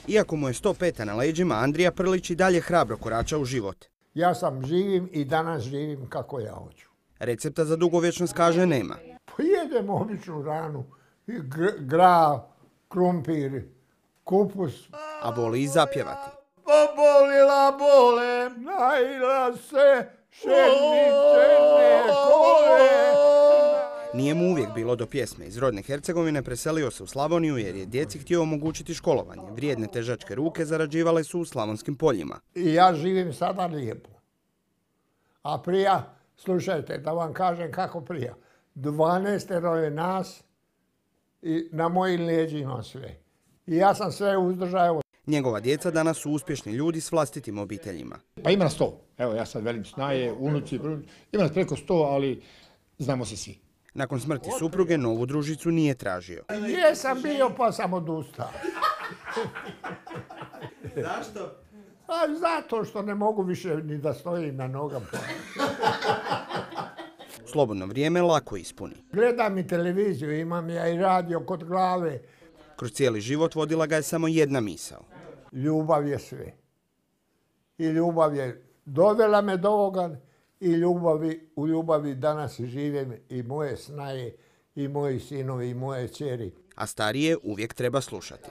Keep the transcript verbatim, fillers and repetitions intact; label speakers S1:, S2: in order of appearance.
S1: Iako mu je sto peta na leđima, Andrija Prlić i dalje hrabro korača u život.
S2: Ja sam živim i danas živim kako ja hoću.
S1: Recepta za dugovječnost, kaže, nema.
S2: Pojedem običnu hranu, gra, krumpir, kupus.
S1: A voli i zapjevati.
S2: Pobolila bolem, najla se šeničene kole.
S1: Nije mu uvijek bilo do pjesme. Iz rodne Hercegovine preselio se u Slavoniju jer je djeci htio omogućiti školovanje. Vrijedne težačke ruke zarađivale su u slavonskim poljima.
S2: I ja živim sada lijepo. A prija, slušajte, da vam kažem kako prija. dvanaestero je nas i na mojim leđima sve. I ja sam sve uzdržao.
S1: Njegova djeca danas su uspješni ljudi s vlastitim obiteljima.
S3: Pa ima nas sto. Evo, ja sad velim snaje, unuci, ima nas preko sto, ali znamo se svi.
S1: Nakon smrti supruge novu družicu nije tražio.
S2: Jesam bio pa sam odustao.
S1: Zašto?
S2: A zato što ne mogu više ni da stojim na nogama.
S1: Slobodno vrijeme lako ispuni.
S2: Gledam i televiziju, imam ja i radio kod glave.
S1: Kroz cijeli život vodila ga je samo jedna misao.
S2: Ljubav je sve. I ljubav je dovela me do ovoga i ljubavi, u ljubavi danas živim i moje snaje, i moji sinovi, i moje ćeri.
S1: A starije uvijek treba slušati.